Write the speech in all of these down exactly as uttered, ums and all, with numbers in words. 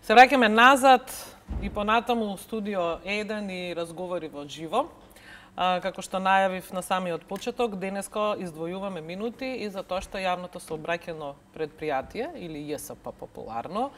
Се враќаме назад и понатаму студио еден и разговори во живо. А, како што најавив на самиот почеток, денеска издвојуваме минути и за тоа што јавното сообраќајно предпријатие, или Ј С П популарно,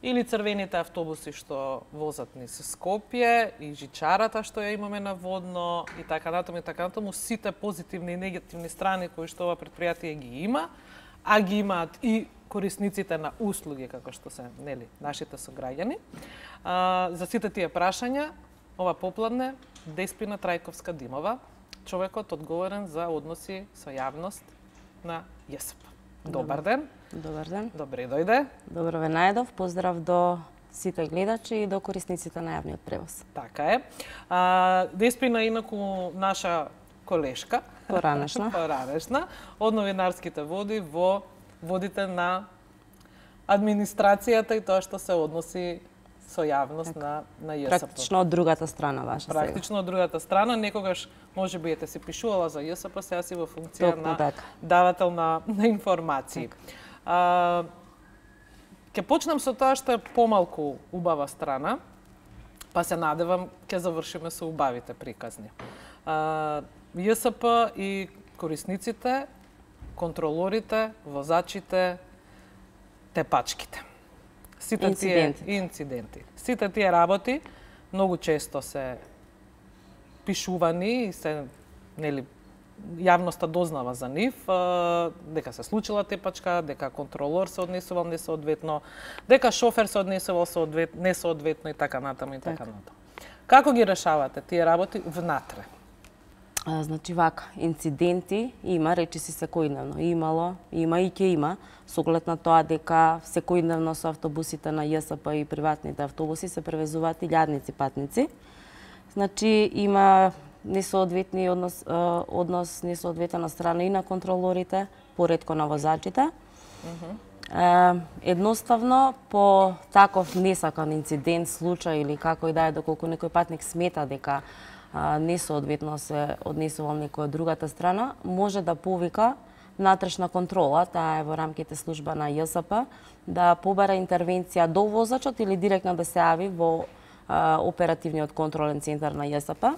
или црвените автобуси што возат низ Скопје, и жичарата што ја имаме на водно, и така натаму, и така натаму, сите позитивни и негативни страни кои што ова предпријатие ги има, а ги имаат и корисниците на услуги, како што се, нели, нашите сограѓани. А, за сите тие прашања, ова попладне, Деспина Трајковска-Димова, човекот одговорен за односи со јавност на Ј С П. Добар ден. Добар ден. Добре дојде. Добро ве најдов. Поздрав до сите гледачи и до корисниците на јавниот превоз. Така е. А, Деспина инаку наша колешка. Поранешна. Поранешна. Од новинарските води во водите на администрацијата и тоа што се односи со јавност так, на, на Ј С П. Практично од другата страна ваша Практично сега. Од другата страна. Некогаш, може би, ете си пишувала за Ј С П, сега си во функција Токму, на така. давател на, на информации. А, ке почнем со тоа што е помалку убава страна, па се надевам ке завршиме со убавите приказни. А, Ј С П и корисниците, контролорите, возачите, тепачките. Сите инциденти. тие инциденти. Сите тие работи многу често се пишувани и се, нели, јавноста дознава за нив, дека се случила тепачка, дека контролор се однесувал несоодветно, дека шофер се однесувал несоодветно и така натаму и така натаму. Како ги решавате тие работи внатре? А, значи вака, инциденти има, речи си секојдневно. Имало, има и ќе има, со оглед на тоа дека секојдневно со автобусите на Ј С П и приватните автобуси се превезуваат илјадници патници. Значи има несоодветни однос, однос несоодветна страна и на контролорите, поредко на возачите. Uh-huh. Едноставно, по таков несакан инцидент, случај или како и да е, доколку некој патник смета дека несоодветно се однесувал некој од другата страна, може да повика внатрешна контрола, таа е во рамките служба на Ј С П, да побара интервенција до возачот или директно да се јави во а, оперативниот контролен центар на Ј С П.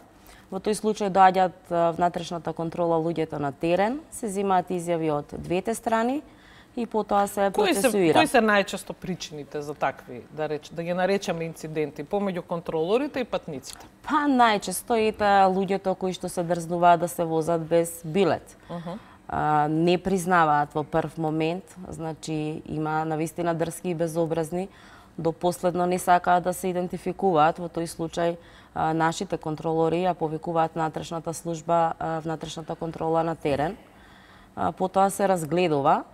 Во тој случај доаѓаат внатрешната контрола луѓето на терен, се земаат изјави од двете страни и потоа се процесуира. Кои се најчесто причините за такви, да реч, да ги наречеме инциденти, помеѓу контролорите и патниците? Па најчесто ете луѓето кои што се дрзнуваат да се возат без билет. Uh-huh. А, не признаваат во прв момент, значи има навистина дрски и безобразни, до последно не сакаат да се идентификуваат. Во тој случај а, нашите контролори ја повикуваат внатрешната служба, а, внатрешната контрола на терен. А, потоа се разгледува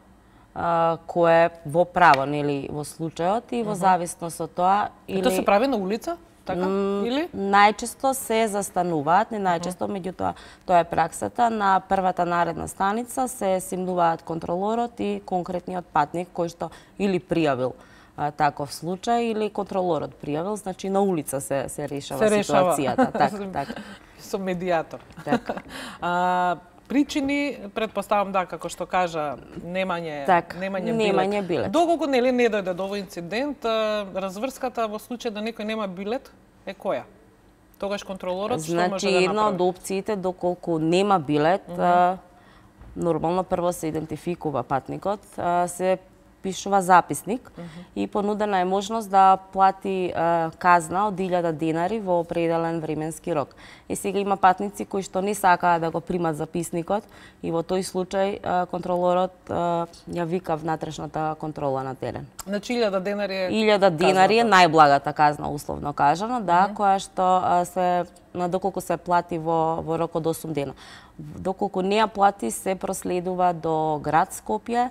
а, кое во право, нели, во случајот и во зависност од тоа или... И тоа се прави на улица? Така? Или? Најчесто се застануваат, не најчесто, меѓутоа тоа е праксата. На првата наредна станица се симнуваат контролорот и конкретниот патник кој што или пријавил а, таков случај или контролорот пријавил, значи на улица се се решава се ситуацијата, така, така. Со медијатор. Така. А, причини, предпоставам да, како што кажа, немање, так, немање, немање билет. билет. Доколку нели не дојде до овој инцидент, разврската во случај да некој нема билет е која? Тогаш контролорот значи, што може да направи? Значи, една од опциите, доколку нема билет, uh -huh. нормално прво се идентификува патникот, се пишува записник uh -huh. и понудена е можност да плати а, казна од илјада денари во определен временски рок. И сега има патници кои што не сакаат да го примат записникот и во тој случај а, контролорот а, ја вика внатрешната контрола на терен. Значи илјада денари е илјада денари е најблагата казна, условно кажано, да, uh -huh. која што а, се доколку се плати во во рок од осум дена. Доколку не ја плати, се проследува до град Скопје,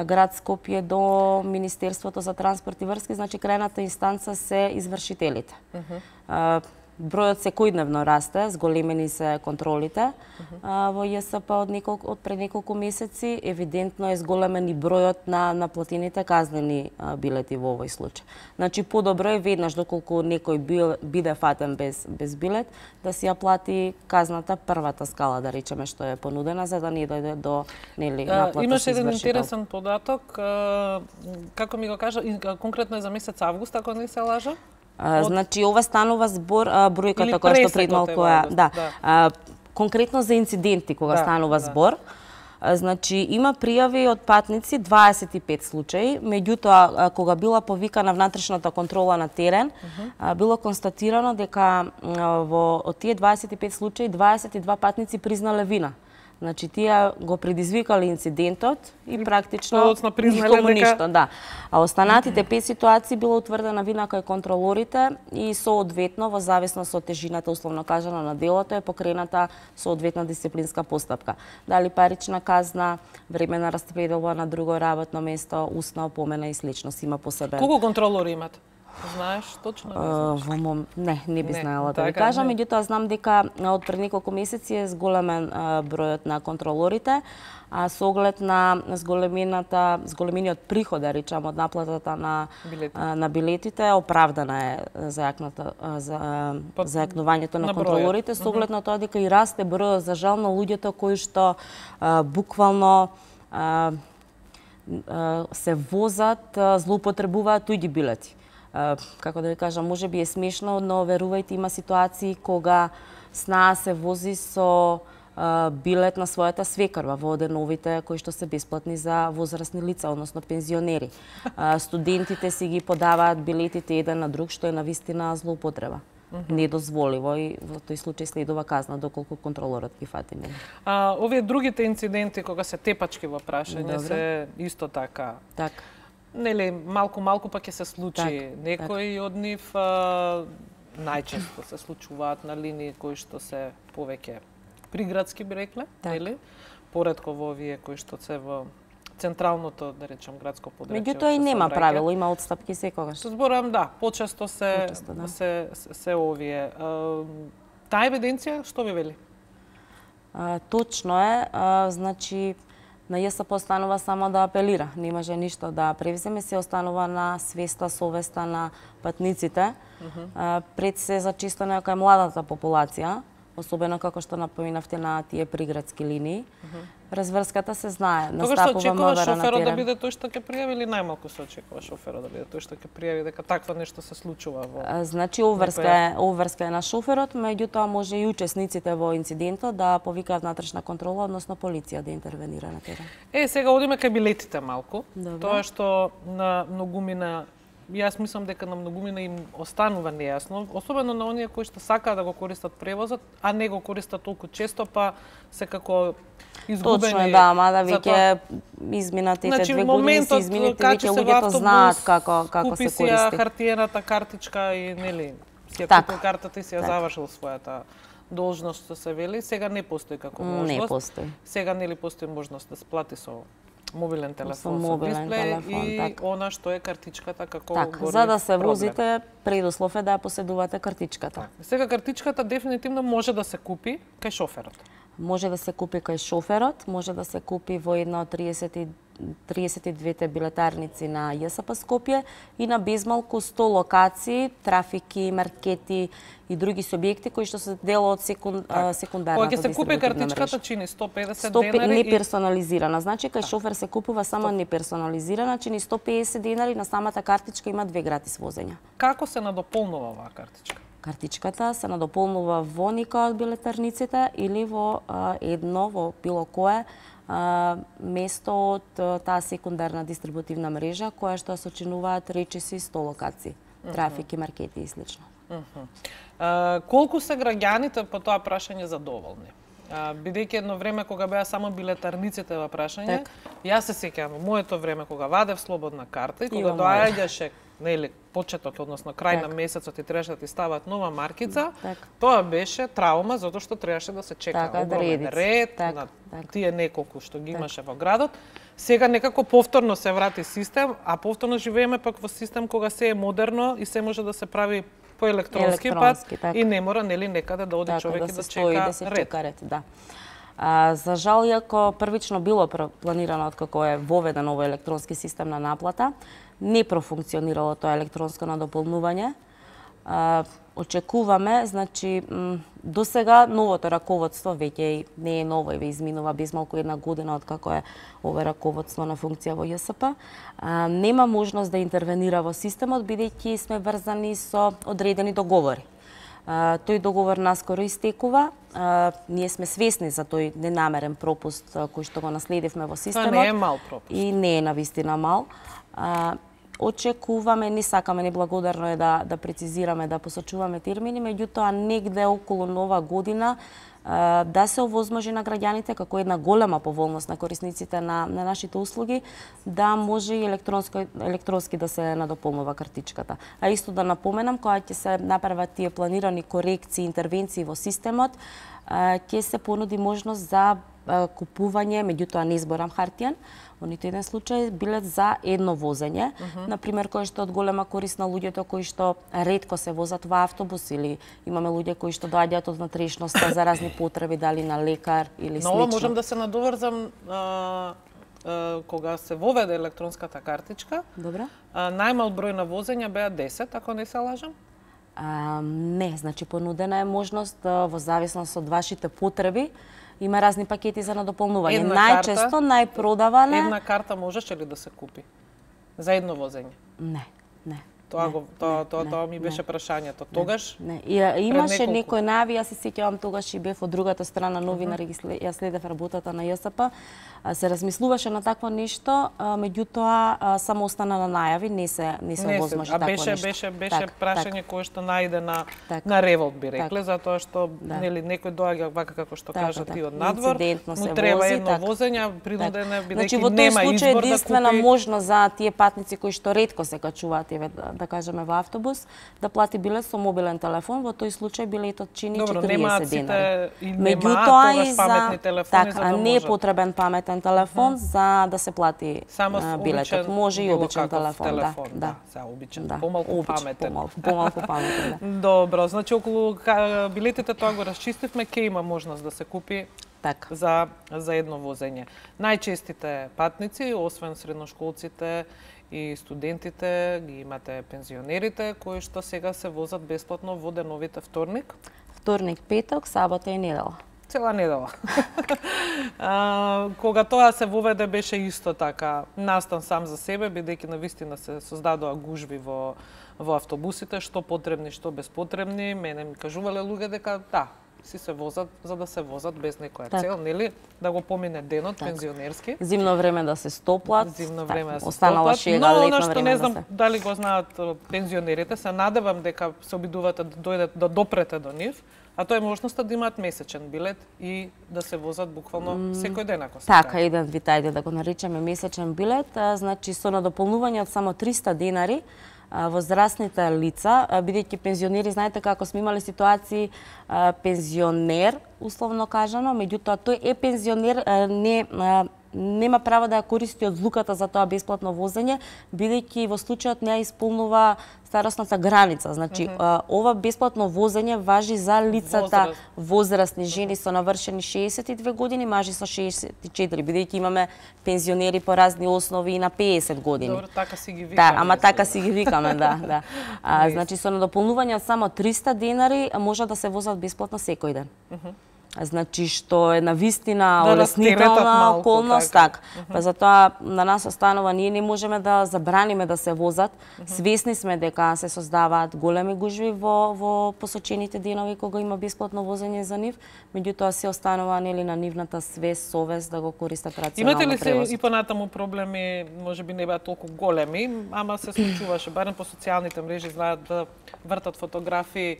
град Скопје до Министерството за транспорт и врски, значи крајната инстанца се извршителите. Uh-huh. бројот секојдневно расте, зголемени се контролите uh -huh. а, во ЈСП од неколку од пред неколку месеци, евидентно е зголемен и бројот на наплатените казнени а, билети во овој случај. Значи подобро е веднаш доколку некој бил, биде фатен без без билет да си ја плати казната првата скала, да речеме, што е понудена, за да не дојде до нели наплата. Имаш еден интересен податок, како ми го кажа, конкретно е за месец август, ако не се лажам? А, значи ова станува збор а, бројката која што пред малку е, да, да. А, конкретно за инциденти кога да, станува да. збор. А, значи има пријави од патници дваесет и пет случаи, меѓутоа кога била повикана внатрешната контрола на терен, uh -huh. а, било констатирано дека а, во од тие дваесет и пет случаи дваесет и два патници признале вина. Значи тие го предизвикале инцидентот и практично никому ништо, да. А останатите пет ситуации било утврдена вина кај контролорите и соодветно во зависност од тежината условно кажано на делото е покрената соодветна дисциплинска постапка. Дали парична казна, времена распределба на друго работно место, устна опомена и слично си има посебен. Колку контролори имате? Знаеш точно? Uh, во мом... Не, не би не, знаела да ви кажам, меѓутоа знам дека од пред неколку месеци е зголемен uh, бројот на контролорите, а со оглед на зголемената, зголемениот приход, да речам, од наплатата на билети. uh, на билетите, оправдана е зајакната uh, за uh, зајакнувањето на, на контролорите, со оглед на тоа дека и расте бројот за жал на луѓето кои што uh, буквално uh, uh, се возат, uh, злоупотребуваат туѓи билети. Uh, како да ви кажам, може би е смешно, но верувајте, има ситуации кога снаа се вози со uh, билет на својата свекрва во деновите кои што се бесплатни за возрастни лица, односно пензионери. Uh, студентите си ги подаваат билетите еден на друг, што е навистина злоупотреба. Uh -huh. Недозволиво и во тој случај следува казна доколку контролорот ги фати. А, овие другите инциденти кога се тепачки во прашање Добре. се исто така. Така. Нели, малку-малку па ќе се случи. Так, Некои так. од нив а, најчесто се случуваат на линии кои што се повеќе приградски, би рекле, так. нели? Поредко во овие кои што се во централното, да речем, градско подрачје. Меѓутоа и нема правило, има отстапки секогаш. Зборам, да, почесто се почесто, да. се, се, се овие. А, таа евиденција што ви вели? А, точно е, а, значи на ЈСП останува само да апелира, не може ништо да превземе, се останува на свеста, совеста на патниците, uh -huh. пред се за чистење кај младата популација, особено како што напоминавте на тие приградски линии. Uh -huh. Разврската се знае, настапува МВР на терен. Шоферот да биде тој што ќе пријави или најмалку се очекува шоферот да биде тој што ќе пријави дека такво нешто се случува во... А, значи, обврска е, обврска е на шоферот, меѓутоа може и учесниците во инцидентот да повикаат внатрешна контрола, односно полиција да интервенира на терен. Е, сега одиме кај билетите малку. Добре. Тоа што на многумина, јас мислам дека на многумина им останува нејасно, особено на оние кои што сакаат да го користат превозот, а не го користат толку често, па секако изгубени. Точно, да, мада веќе изминатите значи, две години се изминати, веќе луѓето знаат како како се користи. Купи си хартиената картичка и нели, си ја купил картата и си ја завршил својата должност, што се вели, сега не постои како можност. Не постои. Сега нели постои можност да се плати со мобилен телефон, со дисплеј и так. она што е картичката како так, за да се возите, предуслов е да ја поседувате картичката. Так. Сега картичката дефинитивно може да се купи кај шоферот. Може да се купи кај шоферот, може да се купи во една од триесет и двете билетарници на ЈСП Скопје и на безмалку сто локации, трафики, маркети и други субјекти кои што се дел од секунд, так. секундарната дистрибутивна мрежа. Кога ќе се купи картичката чини сто педесет денари не персонализирана. Значи кај шофер се купува само не персонализирана, чини сто педесет денари, на самата картичка има две гратис возења. Како се надополнува оваа картичка? Картичката се надополнува во нека од билетарниците или во а, едно, во било кое а, место од а, таа секундарна дистрибутивна мрежа која што сочинуваат речиси сто локации, uh -huh. трафики, маркети и слично. Uh -huh. а, колку се граѓаните по тоа прашање задоволни? А, бидејќи едно време кога беа само билетарниците во прашање, так. Јас се сеќавам во моето време кога вадев слободна карта и кога доаѓаше нели почеток, односно крај так. на месецот и требаше да ти стават нова маркица, так. тоа беше траума затоа што требаше да се чека так, огромен да ред так, на так. тие неколку што ги имаше так. во градот. Сега некако повторно се врати систем, а повторно живееме пак во систем кога се е модерно и се може да се прави по електронски, електронски пат така. И не мора нели некаде да оди така, човек да и да се стои, чека да се ред. чека ред, да. А, за жал, иако првично било планирано откако е воведен овој електронски систем на наплата, не профункционирало тоа електронско надополнување. А, очекуваме, значи, до сега новото раководство веќе не е ново, и изминува без малку една година откако е ова раководство на функција во ЈСП. А, нема можност да интервенира во системот, бидејќи сме врзани со одредени договори. Uh, тој договор наскоро истекува. Uh, ние сме свесни за тој ненамерен пропуст uh, кој што го наследивме во системот. Тоа не е мал пропуст. И не е навистина мал. Uh, очекуваме, не сакаме, неблагодарно е да, да прецизираме, да посочуваме термини, меѓутоа негде околу нова година да се овозможи на граѓаните како една голема поволност на корисниците на, на нашите услуги, да може и електронски, електронски да се надополнува картичката. А исто да напоменам, кога ќе се направат тие планирани корекции, интервенции во системот, ќе се понуди можност за купување, меѓутоа не изборам хартијан, во ниту еден случај билет за едно возење, uh -huh. например кој што од голема корист на луѓето кои што ретко се возат во автобус, или имаме луѓе кои што доаѓаат од натрешноста за разни потреби, дали на лекар или слично. Но можам да се надоврзам а, а, кога се воведе електронската картичка. Добро. А, најмал број на возења беа десет, ако не се лажам. А, не, значи понудена е можност во зависност од вашите потреби. Има разни пакети за надополнување. Една Најчесто, карта, најпродавана... Една карта можеше ли да се купи? За едно возење? Не, не. Тоа не, го тоа не, тоа не, тоа ми беше не, прашањето. Тогаш? Не. И, имаше неколку... некој најави, јас се сеќавам тогаш и бев од другата страна новинар, uh -huh. ја следев работата на ЈСП. Се размислуваше на такво нешто, меѓутоа само остана на најави, не се не се овозможи такво нешто. А беше беше беше так, прашање так. кое што најде на так. на револт би рекле, так. затоа што да. нели некој доаѓа вака како што така, кажа така. ти од надвор, му треба вози, едно так. возење, принуден е бидејќи значи, во нема тој случај избор единствена да купи... можност за тие патници кои што ретко се качуваат, еве да, да кажеме во автобус, да плати билет со мобилен телефон, во тој случај билетот чини Добро, четириесет денари. Меѓутоа и за паметни телефони, так, за да а не е можат. потребен паметен телефон uh -huh. за да се плати само а, билетот. Може и обичен телефон, телефон, да, да. Сега обичен, да. помалку обичен, паметен. Помалку, помалку паметен, да. Добро, значи околу билетите тоа го расчистивме, ке има можност да се купи так. за за едно возење. Најчестите патници, освен средношколците и студентите, ги имате пензионерите кои што сега се возат бесплатно во деновите вторник, вторник, петок, сабота и недела. Цела недела. а, кога тоа се воведе беше исто така настан сам за себе, бидејќи навистина се создадоа гужви во во автобусите, што потребни, што безпотребни. Мене ми кажувале луѓе дека да, си се возат за да се возат без некоја так. цел, нели? Да го помине денот так. пензионерски. Зимно време да се стоплат. Зимно време да се останала стоплат. шега, но летно она што време не знам да се... дали го знаат пензионерите, се надевам дека се обидувате да дојдат да допрете до нив. А тоа е можноста да имаат месечен билет и да се возат буквално mm, секој ден, ако се така, така. еден вид, ајде да го наречеме месечен билет, а, значи со надополнување од само триста денари, а, возрастните лица, а, бидејќи пензионери, знаете како сме имали ситуации, а, пензионер, условно кажано, меѓутоа тој е пензионер, а, не а, нема право да ја користи од злуката за тоа бесплатно возење, бидејќи во случајот не ја исполнува старосната граница. Значи, mm -hmm. ова бесплатно возење важи за лицата Возраст. возрастни жени со навршени шеесет и две години, мажи со шеесет и четири, бидејќи имаме пензионери по разни основи и на пеесет години. Добро, така си ги викаме. Да, ама така си ги викаме, да, да. А, значи со надополнување од само триста денари може да се возат бесплатно секој ден. Mm -hmm. Значи што е навистина да олеснителна околност, така. так. Uh -huh. Па затоа на нас останува, ние не можеме да забраниме да се возат. Uh -huh. Свесни сме дека се создаваат големи гужви во во посочените денови кога има бесплатно возење за нив, меѓутоа се останува нели на нивната свест, совест да го користат рационално превоз. Имате ли се и понатаму проблеми, можеби не беа толку големи, ама се случуваше барем по социјалните мрежи, знаат да вртат фотографии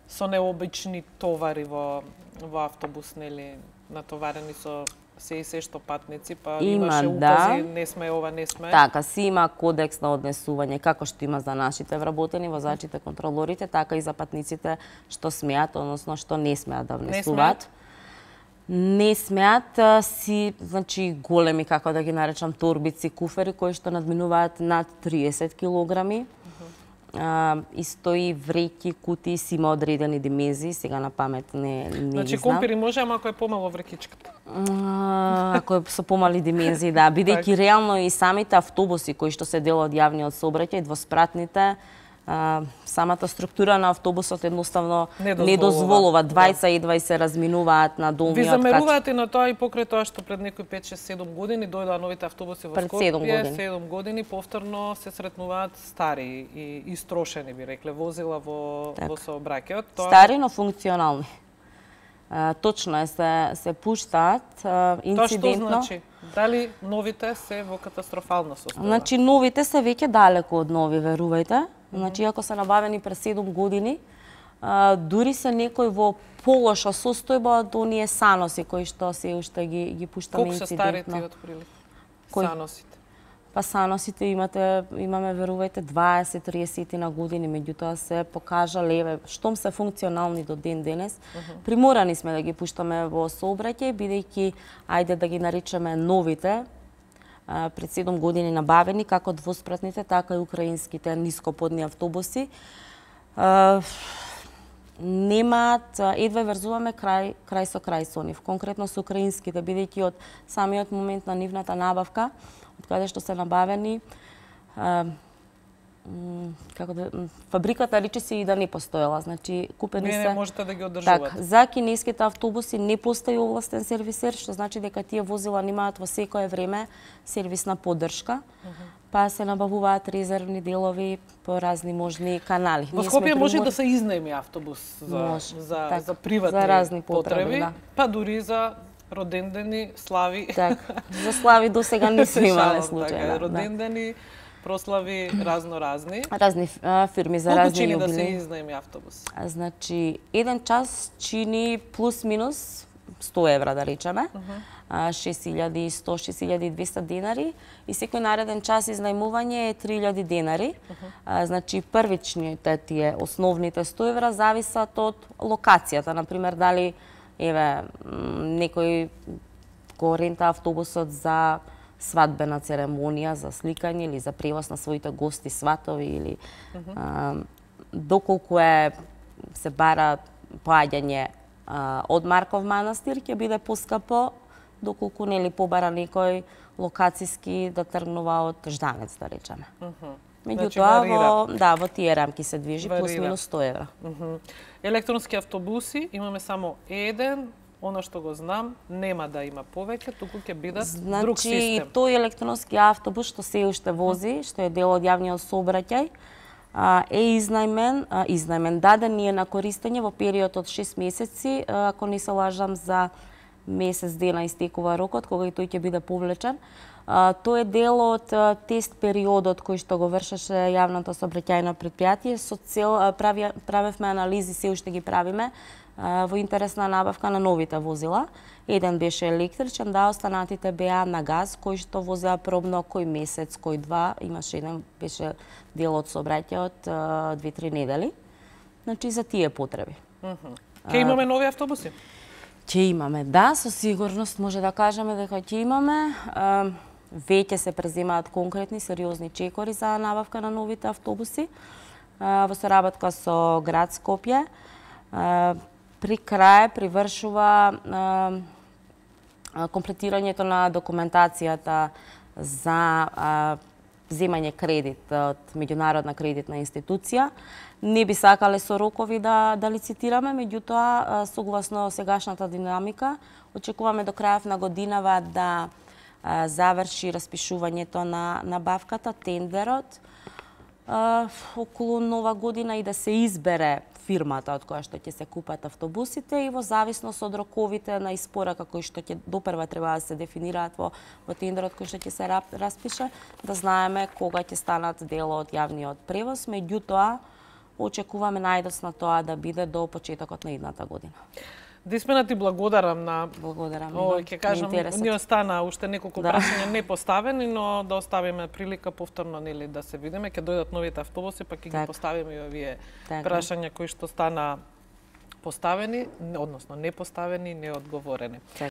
со необични товари во во автобус, нели, натоварени со се и се што патници, па има, имаше да. укази, не сме ова, не сме. Така, си има кодекс на однесување, како што има за нашите вработени, возачите, контролорите, така и за патниците што смеат, односно што не смеат да внесуваат. Не смеат, си, значи, големи, како да ги наречам, торбици, куфери, кои што надминуваат над триесет килограми. а, и стои вреќи, кутии, си има одредени димензии, сега на памет не, не Значи, ги знам. компири може, ама ако е помало врекичката. А, ако е со помали димензии, да. Бидејќи реално и самите автобуси кои што се дел од јавниот сообраќај, двоспратните, а, самата структура на автобусот едноставно не дозволува, не дозволува. Двајца и едва се разминуваат на долниот кач. Ви замерувате на тоа и покрај тоа што пред некои пет шест седум години дојдоа новите автобуси во Скопје, седум години повторно се сретнуваат стари и истрошени, би рекле, возила во, во сообраќајот. Тоа... Стари, но функционални. А, точно е, се, се пуштаат а, инцидентно. Тоа што значи? Дали новите се во катастрофално состојание? Значи, новите се веќе далеко од нови, верувајте. Значи, ако се набавени пред седум години, а, дури се некои во полоша состојба од оние саноси кои што се уште ги, ги пуштаме инцидентно. Колку се стари тие отприлика? Саносите? Па саносите имате, имаме, верувајте, дваесет до триесет на години, меѓутоа се покажа леве, штом се функционални до ден денес. Uh -huh. Приморани сме да ги пуштаме во сообраќај, бидејќи, ајде да ги наричаме новите, пред седум години набавени, како двоспратните, така и украинските нископодни автобуси. Немаат, едва врзуваме крај, крај со крај со нив, конкретно со украинските, бидејќи од самиот момент на нивната набавка, од каде што се набавени, како да, фабриката рече се и да не постоела, значи купени не, се. Не можете да ги одржувате. Така, за кинеските автобуси не постои овластен сервисер, што значи дека тие возила немаат во секое време сервисна поддршка. Uh -huh. Па се набавуваат резервни делови по разни можни канали. Во Скопје може примор... да се изнајми автобус за може, за так, за приватни за разни потреби, потреби да. Па дури за родендени, слави. Така, за слави до сега не сме имале случаи. Така, родендени, прослави разно-разни. Разни а, фирми за Колку разни чини јубилеи. да се изнајми автобус? А, значи, еден час чини плюс-минус сто евра, да речеме. Uh -huh. шест илјади и сто до шест илјади и двесте денари и секој нареден час изнајмување е три илјади денари. Uh -huh. а, значи, првичните тие основните сто евра зависат од локацијата. Например, дали еве некој го рента автобусот за свадбена церемонија, за сликање или за превоз на своите гости, сватови или uh -huh. а, доколку е се бара поаѓање а, од Марков манастир, ќе биде поскапо, доколку нели побара некој локациски да тргнува од Жданец, да речеме. Uh -huh. Меѓутоа, значи, во, да, во тие рамки се движи, плюс-минус сто евра. Uh -huh. Електронски автобуси имаме само еден, она што го знам, нема да има повеќе, туку ќе бидат значи, друг систем. Значи, тој електронски автобус што се уште вози, што е дел од јавниот сообраќај, е изнајмен, изнајмен, даден ни е на користење во период од шест месеци, ако не се лажам, за месец дена истекува рокот, кога и тој ќе биде повлечен. Тој е дел од тест периодот кој што го вршеше јавното сообраќајно предпријатие, со цел прави, правевме анализи, се уште ги правиме, во интерес на набавка на новите возила. Еден беше електричен, да, останатите беа на газ, кои што возеа пробно кој месец, кој два, имаше еден, беше дел од сообраќајот две-три недели. Значи, за тие потреби. Uh -huh. Ке имаме нови автобуси? Ќе имаме, да, со сигурност може да кажеме дека ќе имаме. Веќе се преземаат конкретни, сериозни чекори за набавка на новите автобуси во соработка со град Скопје. При крај привршува комплетирањето на документацијата за земање кредит од меѓународна кредитна институција. Не би сакале со рокови да, да лицитираме, меѓутоа, согласно сегашната динамика, очекуваме до крајот на годинава да а, заврши распишувањето на набавката, тендерот, а, околу нова година и да се избере фирмата од која што ќе се купат автобусите и во зависност од роковите на испорака кои што ќе допрва треба да се дефинираат во, во тендерот кој што ќе се распише, да знаеме кога ќе станат дел од јавниот превоз, меѓутоа очекуваме најдоцна тоа да биде до почетокот на идната година. Диспена, ти благодарам на... Благодарам. Ој, ќе кажам, ни остана уште неколку да. прашања не поставени, но да оставиме прилика повторно нели да се видиме, ќе дојдат новите автобуси, па ќе ги поставиме и овие так. прашања кои што стана поставени, односно не поставени, неодговорени.